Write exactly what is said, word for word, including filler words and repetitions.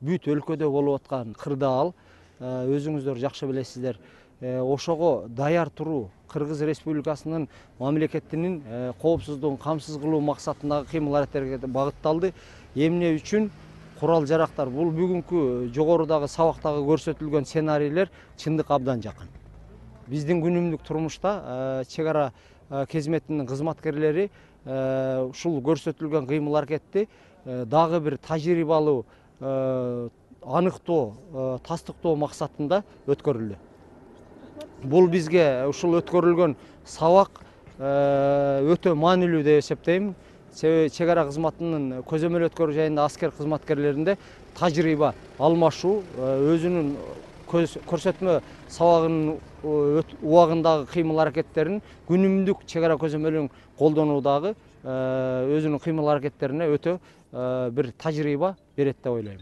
бүт өлкөдө болуп аткан кырдаал, өзүңүздөр жакшы билесиздер. Ошого даяр туруу Кыргыз Республикасынын мамлекетинин коопсуздугун камсыз кылуу максатындагы кыймыл-аракеттерге багытталды. Эмне үчүн курал жарактар? Бул бүгүнкү жогорудагы сабактагы көрсөтүлгөн сценарийлер чындыкка абдан жакын. Биздин күнүмдүк турмушта чек ара кызметинин кызматкерлери ушул көрсөтүлгөн кыймыл-аракетти дагы бир тажрыйбалуу аныктоо, тастыктоо максатында өткөрүлдү. Бул бизге ушул өткөрүлгөн сабак өтө маанилүү деп эсептейм. Себеби чек ара кызматынын көзөмөл өткөрүү жайында аскер кызматкерлеринде тажрыйба алмашуу, өзүнүн көрсөтмө сабагынын убагындагы кыймыл-аракеттерин күнүмдүк чек ара көзөмөлүн колдонуудагы өзүнүн кыймыл-аракеттерине өтө бир тажрыйба берет деп ойлойм.